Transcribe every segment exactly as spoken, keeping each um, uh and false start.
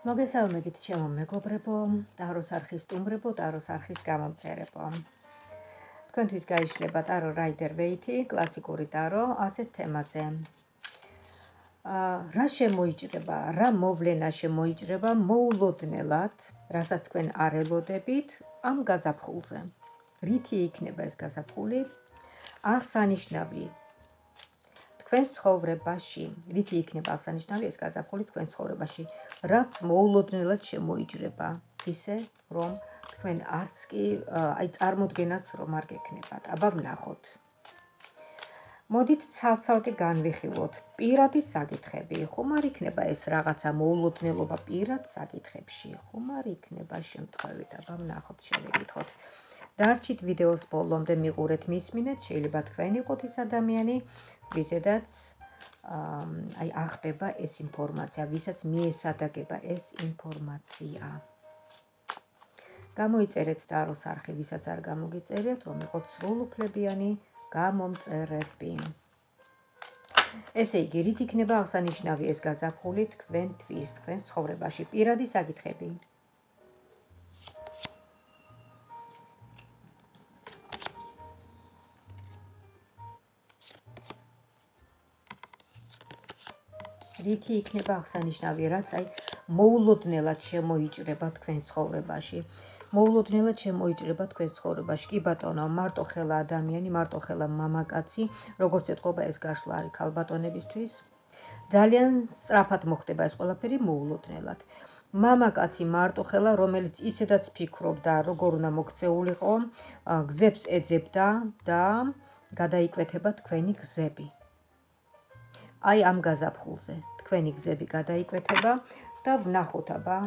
მოგესალმებით ჩემო მეგობრებო, ტაროს არხის სტუმრებო, ტაროს არხის გამომწერებო. თქვენთვის გაიშლება ტარო რაიდერ ვეითი, კლასიკური ტარო, ასეთ თემაზე. რა შემოიჭრება, რა მოვლენა შემოიჭრება მოულოდნელად, რასაც თქვენ არ ელოდებით ამ გაზაფხულზე. რითი იქნება ეს გაზაფხული? აღსანიშნავი თქვენს ცხოვრებაში, რითი იქნება აღსანიშნავი ეს გაზაფხული თქვენს ცხოვრებაში, რაც მოულოდნელად შემოიჭრება, ისე რომ თქვენ არც კი აი წარმოდგენაც რომ არ გექნებათ. აბა ვნახოთ. მოდით ცალ-ცალკე განვიხილოთ პირადი საკითხები. ხომ არ იქნება ეს რაღაცა მოულოდნელობა პირად საკითხებში? ხომ არ იქნება შემთხვევით? აბა ვნახოთ, შევეკითხოთ. დარჩით ვიდეოს ბოლომდე მიყურეთ, მისმინეთ, შეიძლება თქვენ იყოთ ის ადამიანი, ვიზედაც აი ახდება ეს ინფორმაცია, ვისაც მიესადაგება ეს ინფორმაცია. გამოიწერეთ ტაროს არხი, ვისაც არ გამოგიწერეთ, რომ იყოთ სრულუფლებიანი გამომწერები. ესე იგი, რით იქნება აღსანიშნავი ეს გაზაფხული თქვენთვის, თქვენს ცხოვრებაში, პირადი საკითხები. რითი იქნება აღსანიშნავი, რაც აი მოულოდნელად შემოიჭრება თქვენს ცხოვრებაში. მოულოდნელად შემოიჭრება თქვენს ცხოვრებაში. კი ბატონო, მარტოხელა ადამიანი, მარტოხელა მამაკაცი, როგორც ეთყობა ეს გაშლა არის ქალბატონებისთვის. ძალიან სწრაფად მოხდება ეს ყველაფერი მოულოდნელად. მამაკაცი მარტოხელა, რომელიც ისედაც ფიქრობდა, როგორ უნდა მოქცეულიყო, გზებს ეძებდა და გადაიკვეთება თქვენი გზები. აი ამ გაზაფხულზე თქვენი გზები გადაიკვეთება და ვნახოთ აბა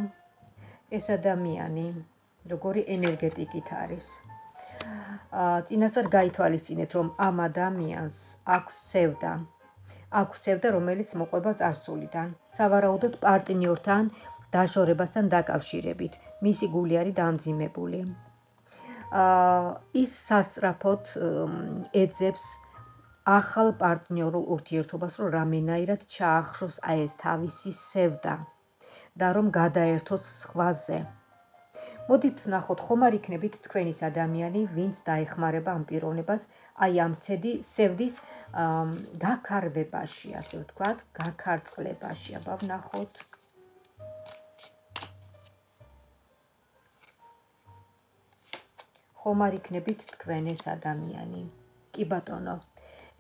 ეს ადამიანი როგორი ენერგეტიკით არის. წინასწარ გაითვალისწინეთ, რომ ამ ადამიანს აქვს სევდა. აქვს სევდა, რომელიც მოყვება წარსულიდან, სავარაუდოდ პარტნიორთან დაშორებასთან დაკავშირებით. მისი გული არის დამძიმებული. ის სასწრაფოდ ეძებს ახალ პარტნიორულ ურთიერთობას, რომ რამენაირად ჩაახროს აი ეს თავისი სევდა და რომ გადაერთოს სხვაზე. მოდით ვნახოთ, ხომ არ იქნებით თქვენ ის ადამიანი, ვინც დაეხმარება ამ პიროვნებას აი ამ სევდის გაქარვებაში, ასე ვთქვათ, გაქარწყლებაში. აბა ვნახოთ. ხომ არ იქნებით თქვენ ეს ადამიანი? კი ბატონო.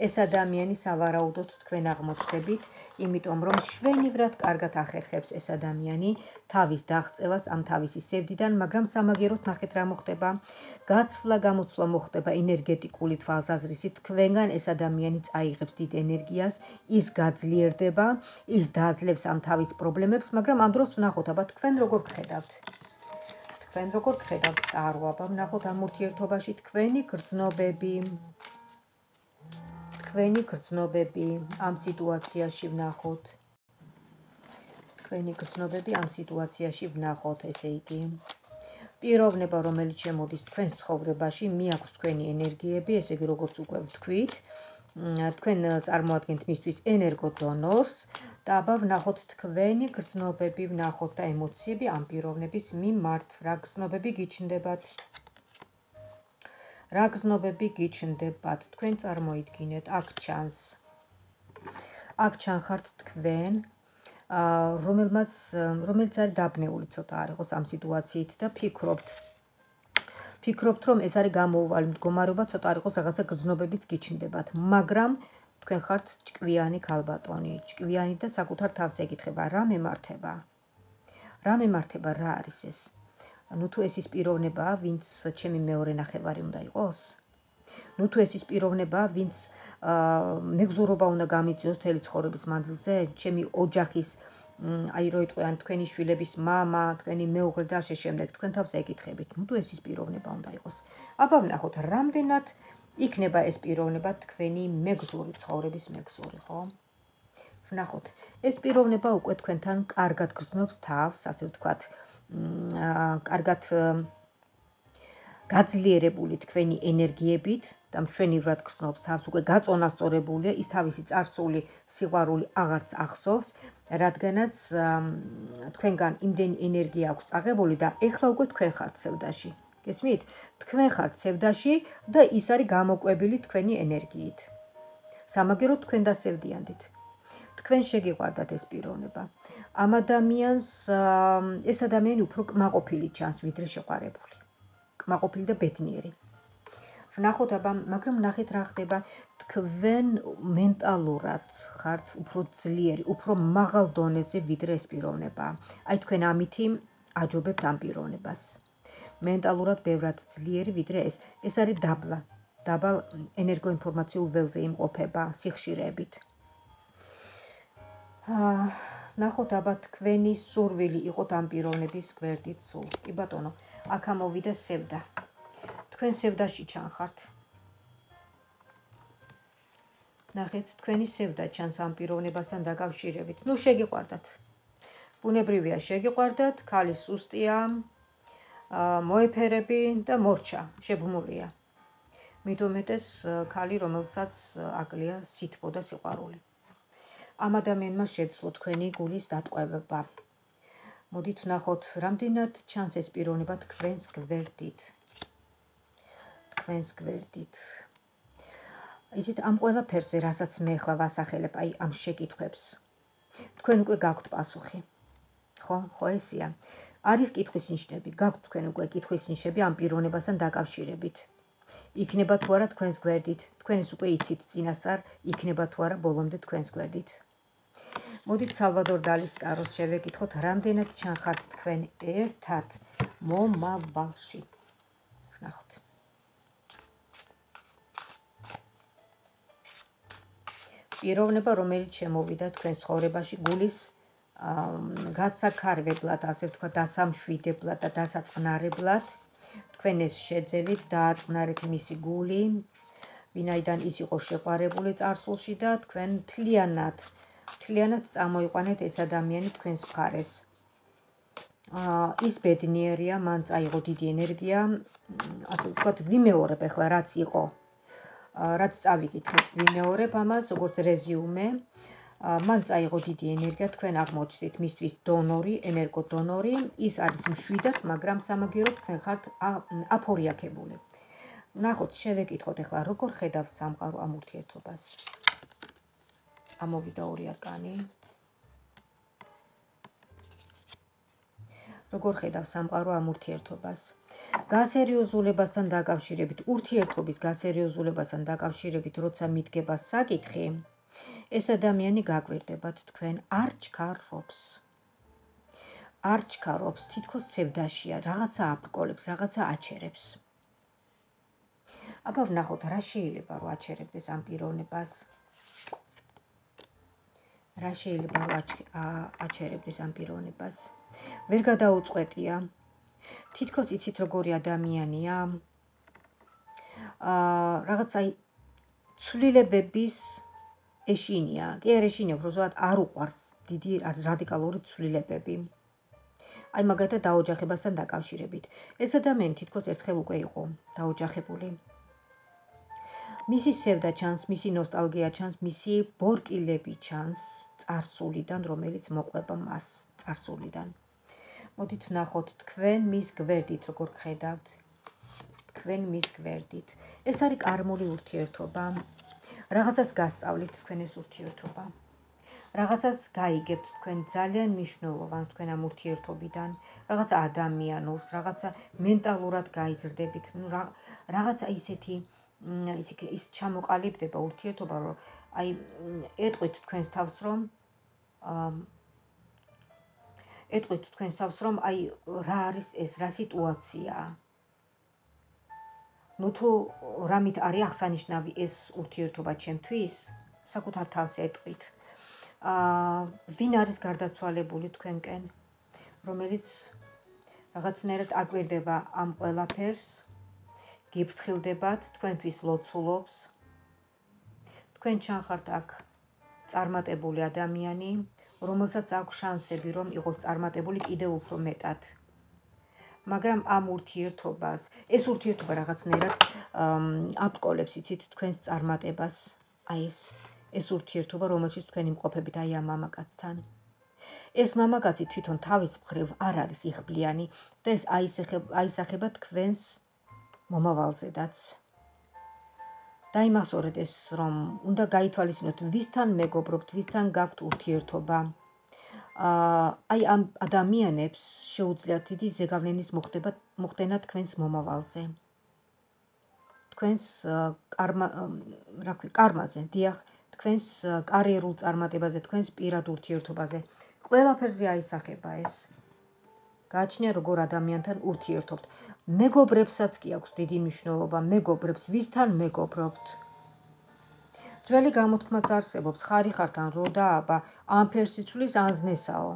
ეს ადამიანი სავარაუდოდ თქვენ აღმოჩნდებით, იმიტომ რომ შვენივრად კარგად ახერხებს ეს ადამიანი თავის დაღწევას ამ თავისი სევდიდან, მაგრამ სამაგიეროდ ნახეთ რა მოხდება. გაცვლა გამოცვლა მოხდება ენერგეტიკული თვალსაზრისით, თქვენგან ეს ადამიანი წაიღებს დიდ ენერგიას, ის გაძლიერდება, ის დაძლევს ამ თავის პრობლემებს, მაგრამ ამ დროს ვნახოთ, აბა თქვენ როგორ გხედავთ? თქვენ როგორ გხედავთ ტარო? აბა ვნახოთ ამ ურთიერთობაში თქვენი გრძნობები. თქვენი გრძნობები ამ სიტუაციაში ვნახოთ. თქვენი გრძნობები ამ სიტუაციაში ვნახოთ, ესე იგი. პიროვნება, რომელიც შემოდის თქვენს ცხოვრებაში, მიაქვს თქვენი ენერგიები, ესე იგი, როგორც უკვე ვთქვით, თქვენ წარმოადგენთ მისთვის ენერგოდონორს და აბა ვნახოთ თქვენი გრძნობები, ვნახოთ და ემოციები ამ პიროვნების მიმართ, რა გრძნობები გიჩნდებათ. რა გრძნობები გიჩნდებათ, თქვენ წარმოიდგინეთ, აქ ჩანს. აქ ჩანხართ თქვენ, რომელმაც რომელიც არის დაბნეული ცოტა არ იყოს ამ სიტუაციით და ფიქრობთ. ფიქრობთ, რომ ეს არის გამოუვალი მდგომარეობა, ცოტა არ იყოს რაღაცა გრძნობებიც გიჩნდებათ, მაგრამ თქვენ ხართ ჭკვიანი ქალბატონი, ჭკვიანი და საკუთარ თავს ეკითხება, რა მემართება? რა მემართება, რა არის ეს? ნუ თუ ეს ის პიროვნებაა, ვინც ჩემი მეორე ნახევარი უნდა იყოს? ნუ თუ ეს ის პიროვნებაა, ვინც მეგზურობა უნდა გამიწიოს მთელი ცხოვრების მანძილზე, ჩემი ოჯახის, აი რო იტყვიან, თქვენი შვილების მამა, თქვენი მეუღლე და ასე შემდეგ, თქვენ თავს ეკითხებით. ნუ თუ ეს ის პიროვნება უნდა იყოს. აბა ვნახოთ, რამდენად იქნება ეს პიროვნება თქვენი მეგზური, ცხოვრების მეგზური, ხო? ვნახოთ, ეს პიროვნება უკვე თქვენთან კარგად გრძნობს თავს, ასე ვთქვათ, კარგად გაძლიერებული თქვენი ენერგიებით და მშვენივრად გრძნობს თავს, უკვე გაწონასწორებულია, ის თავისი წარსული სიყვარული აღარც ახსოვს, რადგანაც თქვენგან იმდენი ენერგია აქვს წაღებული და ეხლა უკვე თქვენ ხართ სევდაში. გესმით? თქვენ ხართ სევდაში და ის არის გამოკვებილი თქვენი ენერგიით. სამაგეროდ თქვენ დასევდიანდით. თქვენ შეგიყვარდათ ეს პიროვნება. ამ ადამიანს ეს ადამიანი უფრო კმაყოფილი ჩანს, ვიდრე შეყვარებული. კმაყოფილი და ბედნიერი. ვნახოთ აბა, მაგრამ ნახეთ რა ხდება, თქვენ მენტალურად ხართ უფრო ძლიერი, უფრო მაღალ დონეზე ვიდრე ეს პიროვნება. აი თქვენ ამითი აჯობებთ ამ პიროვნებას. მენტალურად ბევრად ძლიერი ვიდრე ეს. ეს არის დაბლა, დაბალ ენერგოინფორმაციულ ველზე იმყოფება სიხშირეებით. ნახოთ აბა თქვენი სურვილი იყოთ ამ პიროვნების გვერდით სულ. კი ბატონო, აქ ამოვიდა სევდა. თქვენ სევდაში ჩანხართ. ნახეთ, თქვენი სევდა ჩანს ამ პიროვნებასთან დაკავშირებით. ნუ შეგიყვარდათ. ბუნებრივია შეგიყვარდათ, ქალი სუსტია, მოეფერები და მორჩა, შეგმულია. მით უმეტეს ქალი, რომელსაც აკლია სითბო და სიყვარული. ამ ადამიანმა შეძლო თქვენი გულის დატყვევება. მოდით ვნახოთ, რამდენად ჩანს ეს პიროვნება თქვენს გვერდით. თქვენს გვერდით. იცით, ამ ყველაფერზე, რასაც მე ახლა ვასახელებ, აი ამ შეკითხვებს, თქვენ უკვე გაქვთ პასუხი. ხო, ხო ესია. არის კითხვის ნიშნები, გაქვთ თქვენ უკვე კითხვის ნიშნები ამ პიროვნებასთან დაკავშირებით. იქნება თუ არა თქვენს გვერდით, თქვენ ეს უკვე იცით წინასწარ, იქნება თუ არა ბოლომდე თქვენს გვერდით. მოდით სალვადორ დალის ტაროს შევეკითხოთ, რამდენად ჩანხართ თქვენ ერთად მომავალში. ვნახოთ. პიროვნება, რომელიც შემოვიდა თქვენ ცხოვრებაში გულის გასაქარვებლად, ასე ვთქვათ, დასამშვიდებლად და დასაწყნარებლად, თქვენ ეს შეძევით, დააწყნარეთ მისი გული, ვინაიდან ის იყო შეყვარებული წარსულში და თქვენ თლიანად, თლიანად წამოიყვანეთ ეს ადამიანი თქვენს მხარეს. ის ბედნიერია, მან წაიღო დიდი ენერგია, ასე ვთქვათ, ვიმეორებ ახლა რაც იყო. რაც წავიკითხეთ, ვიმეორებ ამას, როგორც რეზიუმე, მან წაიღო დიდი ენერგია, თქვენ აღმოჩნდით მისთვის დონორი, ენერგოდონორი, ის არის მშვიდად, მაგრამ სამაგიეროდ თქვენ ხართ აფორიაქებული. ვნახოთ, შევეკითხოთ ახლა, როგორ ხედავს სამყარო ამ ურთიერთობას. ამოვიდა ორი არკანი. როგორ ხედავს სამყარო ამ ურთიერთობას. გასერიოზულებასთან დაკავშირებით, ურთიერთობის გასერიოზულებასთან დაკავშირებით, როცა მიდგება საკითხი, ეს ადამიანი გაგვირდებათ თქვენ, არ ჩქარობს. არ ჩქარობს, თითქოს სევდაშია, რაღაცა აბრკოლებს, რაღაცა აჩერებს. აბა ვნახოთ, რა შეიძლება რომ აჩერებდეს ამ პიროვნებას. რა შეიძლება რომ აჩერებდეს ამ პიროვნებას. ვერ გადაუწყვეტია. თითქოს იცით როგორი ადამიანია. აა რაღაც აი ცვლილებების ეშინია. კი არ ეშინია, უბრალოდ არ უყვარს დიდი რადიკალური ცვლილებები. აი მაგათაც დაოჯახებასთან დაკავშირებით. ეს ადამიანი თითქოს ერთხელ უკვე იყო დაოჯახებული. მისი სევდა ჩანს, მისი ნოსტალგია ჩანს, მისი ბორკილები ჩანს წარსულიდან, რომელიც მოყვება მას წარსულიდან. მოდით ვნახოთ, თქვენ მის გვერდით როგორ ხედავთ. თქვენ მის გვერდით. ეს არის კარმული ურთიერთობა. რაღაცას გასწავლით თქვენ ეს ურთიერთობა. რაღაცას გაიგებთ თქვენ ძალიან მნიშვნელოვანს თქვენ ამ ურთიერთობიდან, რაღაცა ადამიანურს, რაღაცა მენტალურად გაიზრდებით, ნუ რაღაცა ისეთი ის ჩამოყალიბდება ურთიერთობა, რომ აი ეტყვით თქვენს თავს, რომ ეტყვით თქვენს თავს, რომ აი რა არის ეს, რა სიტუაციაა. ნუ თუ რამით არის აღსანიშნავი ეს ურთიერთობა ჩემთვის, საკუთარ თავს ეტყვით. აა ვინ არის გარდაცვალებული თქვენკენ, რომელიც რაღაცნაირად აკვირდება ამ ყველაფერს, გიფრთხილდებათ, თქვენთვის ლოცულობს. თქვენ ჩანხართ აქ წარმატებული ადამიანი, რომელსაც აქვს შანსები, რომ იყოს წარმატებული კიდევ უფრო მეტად. მაგრამ ამ ურთიერთობას, ეს ურთიერთობა რაღაცნაირად აბკოლებს იცით თქვენს წარმატებას, აი ეს ეს ურთიერთობა, რომელშიც თქვენ იმყოფებით აი ამ მამაკაცთან. ეს მამაკაცი თვითონ თავის მხრივ არ არის იხბლიანი და ეს აისახება თქვენს მომავალზედაც. დაიმახსოვრეთ ეს, რომ უნდა გაითვალისწინოთ, ვისთან მეგობრობთ, ვისთან გაქვთ ურთიერთობა. აი ამ ადამიანებს შეუძლიათ დიდი ზეგავლენის მოხდენა თქვენს მომავალზე. თქვენს კარმაზე, დიახ, თქვენს კარიერულ წარმატებაზე, თქვენს პირად ურთიერთობაზე. ყველაფერზე აისახება ეს. გააჩნია როგორ ადამიანთან ურთიერთობთ. მეგობრებსაც კი აქვს დიდი მნიშვნელობა, მეგობრებს, ვისთან მეგობრობთ. ძველი გამოთქმაც არსებობს, ხარი ხართ ან რო და აბა, ან ფერსიცვლის ან ზნესაო.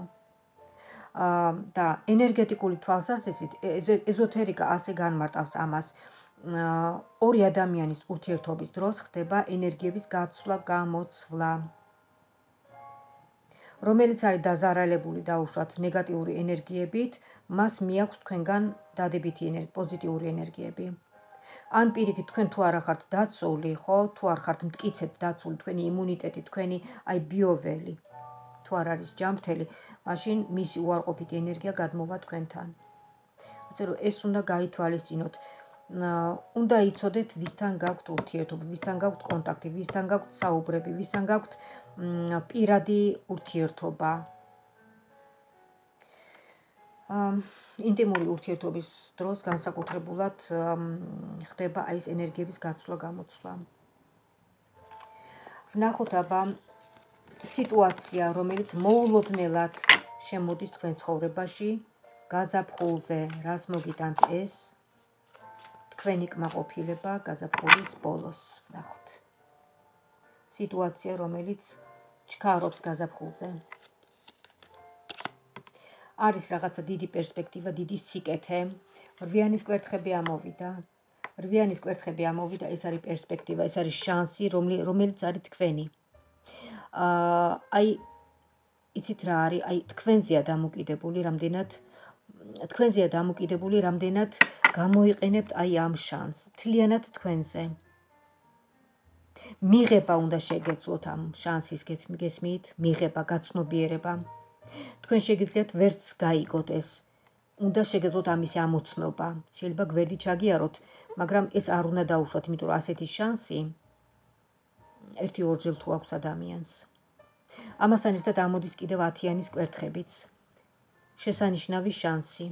და ენერგეტიკული თვალსაზრისით ეზოთერიკა ასე განმარტავს ამას. ორი ადამიანის ურთიერთობის დროს ხდება ენერგიების გაცვლა, გამოცვლა. რომელიც არის დაზარალებული დაუშვათ ნეგატიური ენერგიებით, მას მიაქვს თქვენგან დადებითი პოზიტიური ენერგიები. ან პირიქით თქვენ თუ არა ხართ დაცული, ხო, თუ არ ხართ მტკიცედ დაცული, თქვენი იმუნიტეტი, თქვენი აი ბიოველი, თუ არ არის ჯანმრთელი, მაშინ მისი უარყოფითი ენერგია გადმოვა თქვენთან. ასე რომ ეს უნდა გაითვალისწინოთ. უნდა იცოდეთ, ვისთან გაქვთ ურთიერთობა, ვისთან გაქვთ კონტაქტი, ვისთან გაქვთ საუბრები, ვისთან გაქვთ პირადი ურთიერთობა. ინტიმური ურთიერთობის დროს განსაკუთრებულად ხდება აი ეს ენერგიების გაცვლა, გამოცვლა. ვნახოთ აბა სიტუაცია, რომელიც მოულოდნელად შემოდის თქვენ ცხოვრებაში, გაზაფხულზე, რას მოგიტანთ ეს? თქვენი კმაყოფილება გაზაფხულის ბოლოს. ვნახოთ. სიტუაცია, რომელიც ჩქარობს გაზაფხულზე. არის რაღაცა დიდი პერსპექტივა, დიდი სიკეთე. რვიანის კვერთხები ამოვიდა. რვიანის კვერთხები ამოვიდა, ეს არის პერსპექტივა, ეს არის შანსი, რომელიც არის თქვენი. აი, იცით რა არის? აი, თქვენზეა დამოკიდებული, რამდენად თქვენზეა დამოკიდებული, რამდენად გამოიყენებთ აი ამ შანსს, მთლიანად თქვენზე. მიღება უნდა შეგეძლოთ ამ შანსის გესმით, მიღება, გაცნობიერება. თქვენ შეგიძლიათ ვერც გაიგოთ ეს. უნდა შეგეძლოთ ამისი ამოცნობა. შეიძლება გვერდი ჩაგიაროთ, მაგრამ ეს არ უნდა დაუშვათ, იმიტომ რომ ასეთი შანსი ერთი ორჯერ თუ აქვს ადამიანს. ამასთან ერთად ამოდის კიდევ ათიანის კვერთხებიც. შესანიშნავი შანსი.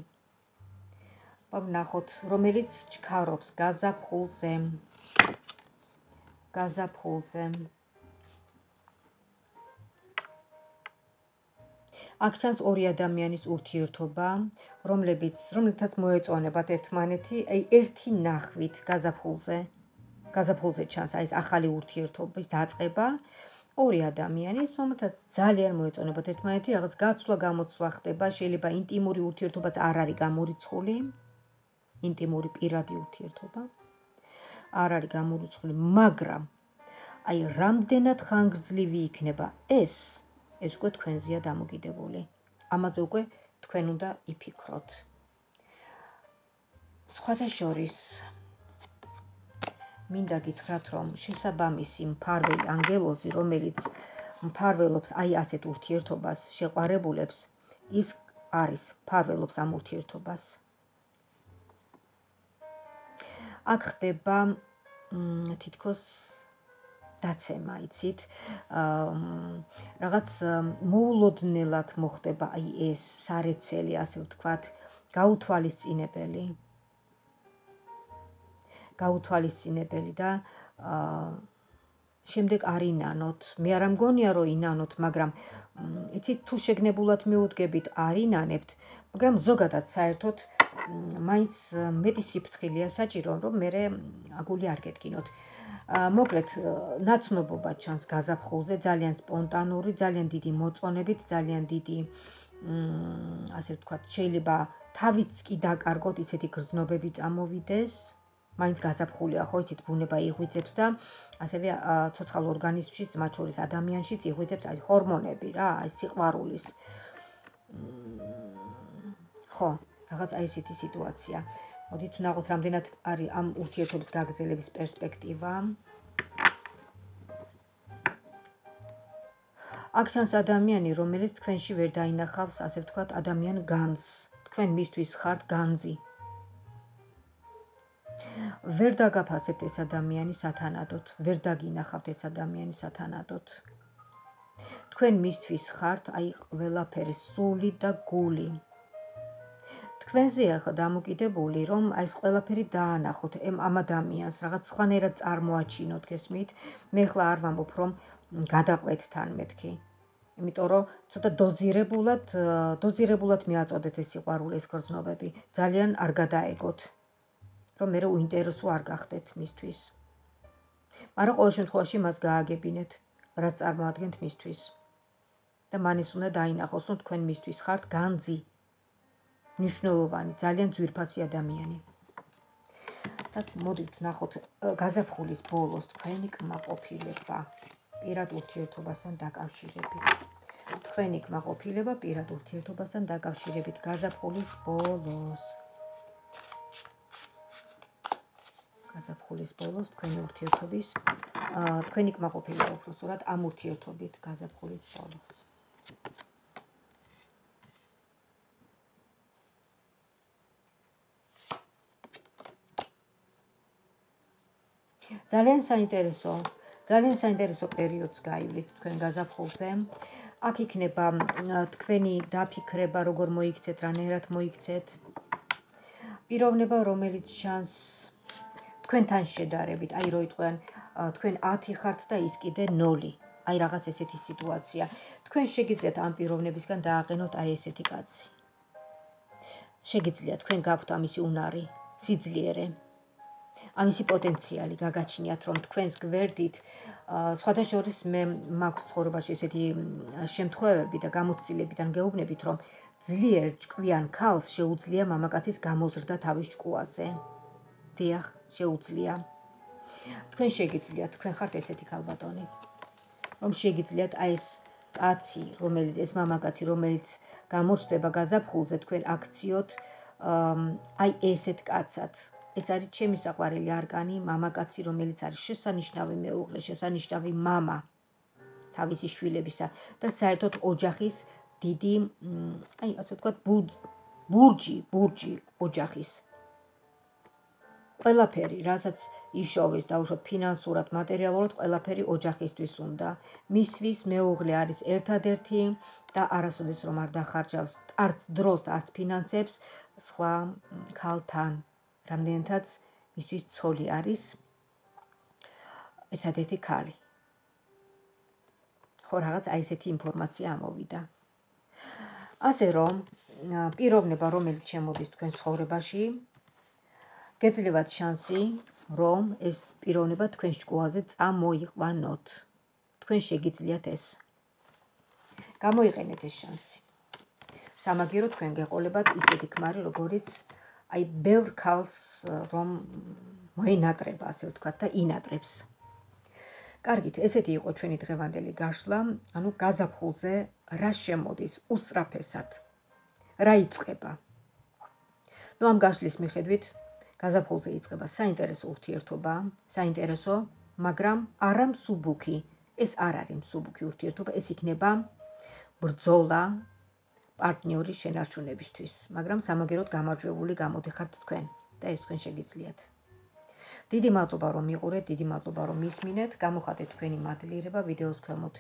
ვნახოთ, რომელიც ჩქარობს გაზაფხულზე. გაზაფხულზე. აქ ჩანს ორი ადამიანის ურთიერთობა, რომლებიც, რომლითაც მოეწონებათ ერთმანეთი, აი ერთი ნახვით გაზაფხულზე. გაზაფხულზე ჩანს აი ეს ახალი ურთიერთობის დაწყება. ორი ადამიანის, რომელთაც ძალიან მოეწონებათ ერთმანეთი, რაღაც გაცვლა, გამოცვლა ხდება, შეიძლება ინტიმური ურთიერთობაც არ არის გამორიცხული. ინტიმური პირადი ურთიერთობა არ არის გამორიცხული, მაგრამ აი რამდენად ხანგრძლივი იქნება ეს, ეს უკვე თქვენზეა დამოკიდებული. ამაზე უკვე თქვენ უნდა იფიქროთ. სხვათა შორის მინდა გითხრათ, რომ შესაბამისი მფარველი ანგელოზი, რომელიც მფარველობს აი ასეთ ურთიერთობას, შეყვარებულებს, ის არის მფარველობს ამ ურთიერთობას. აქ ხდება თითქოს დაცემა, იცით, რაღაც მოულოდნელად მოხდება აი ეს სარეცელი, ასე ვთქვათ, გაუთვალისწინებელი. გაუთვალისწინებელი და შემდეგ არ ინანოთ. მე არ მგონია, რომ ინანოთ, მაგრამ იცით, თუ შეგნებულად მიუდგებით, არ ინანებთ, მაგრამ ზოგადად საერთოდ მაინც მეტი სიფრთხილეა საჭირო, რომ მე აგული არ გეტკინოთ. მოკლედ, ნაცნობობა ჩანს გაზაფხულზე, ძალიან სპონტანური, ძალიან დიდი მოწონებით, ძალიან დიდი, ასე ვთქვათ, შეიძლება თავიც კი დაკარგოთ, ისეთი გრძნობები წამოვიდეს. მაინც გაზაფხულია, ხო, იცით, ბუნება იღვიძებს და ასევე ცოცხალ ორგანიზმშიც, მათ შორის ადამიანშიც იღვიძებს აი ჰორმონები რა, აი სიყვარულის. ხო, რაღაც აი ესეთი სიტუაცია. მოდით ვნახოთ, რამდენად არის ამ ურთიერთობის გაგრძელების პერსპექტივა. აქ ჩანს ადამიანი, რომელიც თქვენში ვერ დაინახავს, ასე ვთქვათ, ადამიან განძს. თქვენ მისთვის ხართ განძი. ვერ დაგაფასებთ ეს ადამიანი სათანადოდ, ვერ დაგინახავთ ეს ადამიანი სათანადოდ. თქვენ მისთვის ხართ აი ყველაფერი, სული და გული. თქვენზე ახლა დამოკიდებული, რომ აი ეს ყველაფერი დაანახოთ ამ ადამიანს, რაღაც სხვანაირად წარმოაჩინოთ, გესმით? მე ხლა არ ვამბობ, რომ გადაყვეთ თან მეთქი. იმიტომ რომ ცოტა დოზირებულად, დოზირებულად მიაწოდეთ ეს სიყვარული, ეს გრძნობები, ძალიან არ გადაეგოთ, რომ მე უინტერესო არ გახდეთ მისთვის. მაგრამ ყოველ შემთხვევაში მას გააგებინეთ, რაც წარმოადგენთ მისთვის. და მან ის უნდა დაინახოს, რომ თქვენ მისთვის ხართ განძი. მნიშვნელოვანი, ძალიან ძვირფასი ადამიანი. და მოდით ნახოთ გაზაფხულის ბოლოს თქვენი კმაყოფილება პირად ურთიერთობასთან დაკავშირებით. თქვენი კმაყოფილება პირად ურთიერთობასთან დაკავშირებით გაზაფხულის ბოლოს. გაზაფხულის ბოლოს თქვენი ურთიერთობის, თქვენი კმაყოფილება უფრო სწორად ამ ურთიერთობით გაზაფხულის ბოლოს. ძალიან საინტერესო, ძალიან საინტერესო პერიოდს გაივლით თქვენ გაზაფხულზე. აქ იქნება თქვენი დაფიქრება, როგორ მოიქცეთ, რანაირად მოიქცეთ. პიროვნება, რომელიც ჩანს თქვენთან შედარებით, აი რო იტყვიან, თქვენ ათი ხართ და ის კიდე ნული. აი რაღაც ესეთი სიტუაცია. თქვენ შეგიძლიათ ამ პიროვნებისგან დააყენოთ აი ესეთი კაცი. შეგიძლიათ, თქვენ გაქვთ ამისი უნარი, სიძლიერე. ამისი პოტენციალი გაგაჩნიათ, რომ თქვენს გვერდით, სხვათა შორის მე მაქვს ცხოვრებაში ესეთი შემთხვევები და გამოცდილებიდან გეუბნებით, რომ ძლიერ ჭკვიან ქალს შეუძლია მამაკაცის გამოზრდა თავის ჭკუაზე. დიახ, შეუძლია. თქვენ შეგიძლიათ, თქვენ ხართ ესეთი ქალბატონი, რომ შეგიძლიათ აი ეს კაცი, რომელიც ეს მამაკაცი, რომელიც გამორჩდება გაზაფხულზე, თქვენ აქციოთ აი ესეთ კაცად. ეს არის ჩემი საყვარელი არკანი, მამაკაცი, რომელიც არის შესანიშნავი მეუღლე, შესანიშნავი მამა თავისი შვილებისა და საერთოდ ოჯახის დიდი, აი ასე ვთქვათ, ბურჯი, ბურჯი ოჯახის. ყველაფერი, რასაც იშოვეს, დაუშვათ ფინანსურად, მატერიალურად, ყველაფერი ოჯახისთვის უნდა. მისვის მეუღლე არის ერთადერთი და არასოდეს რომ არ დახარჯავს არც დროს, არც ფინანსებს სხვა ქალთან. რამდენადაც მისთვის ცოლი არის ერთადერთი ქალი. ხო, რაღაც აი ესეთი ინფორმაცია ამოვიდა. ასე რომ, პიროვნება, რომელიც შემოდის თქვენ ცხოვრებაში, გეძლევათ შანსი, რომ ეს პიროვნება თქვენ ჭკუაზე წამოიყვანოთ. თქვენ შეგიძლიათ ეს. გამოიყენეთ ეს შანსი. სამაგიერო თქვენ გეყოლებათ ისეთი ქმარი, როგორიც აი ბევრ ქალს რომ მოინატრება, ასე ვთქვათ და ინატრებს. კარგით, ესეთი იყო ჩვენი დღევანდელი გაშლა, ანუ გაზაფხულზე რა შემოდის უსწრაფესად, რა იწყება. ნუ ამ გაშლის მიხედვით გაზაფხულზე იწყება საინტერესო ურთიერთობა, საინტერესო, მაგრამ არა მსუბუქი. ეს არ არის მსუბუქი ურთიერთობა, ეს იქნება ბრძოლა პარტნიორის შენარჩუნებისთვის, მაგრამ სამაგეროდ გამარჯვებული გამოდიხართ თქვენ და ეს თქვენ შეგიძლიათ. დიდი მადლობა რომ მიყურეთ, დიდი მადლობა რომ მისმინეთ, გამოხატეთ თქვენი მადლიერება ვიდეოს ქვემოთ,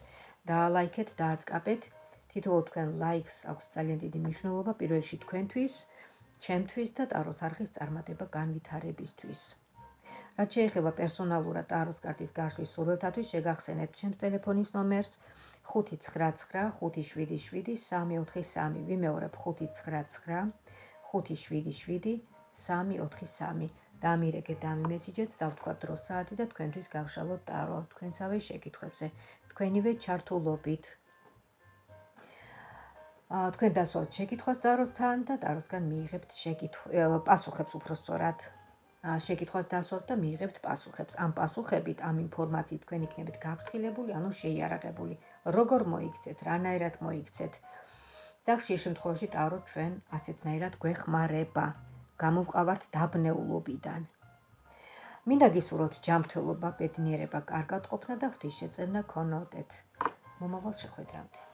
დაალაიქეთ, დააწყაბეთ. თითოეულ თქვენ ლაიქს აქვს ძალიან დიდი მნიშვნელობა პირველ რიგში თქვენთვის, ჩემთვის და ტაროს არხის წარმატება განვითარებისთვის. რაც შეეხება პერსონალურად ტაროს კარტის გაშლის სურვილთათვის, შეგახსენეთ ჩემს ტელეფონის ნომერს ხუთი ცხრა ცხრა ხუთი შვიდი შვიდი სამი ოთხი სამი. ვიმეორებ ხუთი ცხრა ცხრა ხუთი შვიდი შვიდი სამი ოთხი სამი. დამირეკეთ, დამიმესიჯეთ, დავთქვათ დრო საათი და თქვენთვის გავშალოთ ტარო თქვენსავე შეკითხვებზე, თქვენივე ჩართულობით. თქვენ დასვათ შეკითხვას ტაროსთან და ტაროსგან მიიღებთ პასუხებს, უფრო სწორად. შეკითხვას დასვათ და მიიღებთ პასუხებს. ამ პასუხებით, ამ ინფორმაციით თქვენ იქნებით გაფრთხილებული, ანუ შეიარაღებული. როგორ მოიქცეთ, რანაირად მოიქცეთ. და ხშირ შემთხვევაში ტარო ჩვენ ასეთნაირად გვეხმარება. გამოვყავართ დაბნეულობიდან. მინდა გისურვოთ ჯანმრთელობა, ბედნიერება, კარგად ყოფნა და ღვთისშეწევნა გქონოდეთ. მომავალ შეხვედრამდე.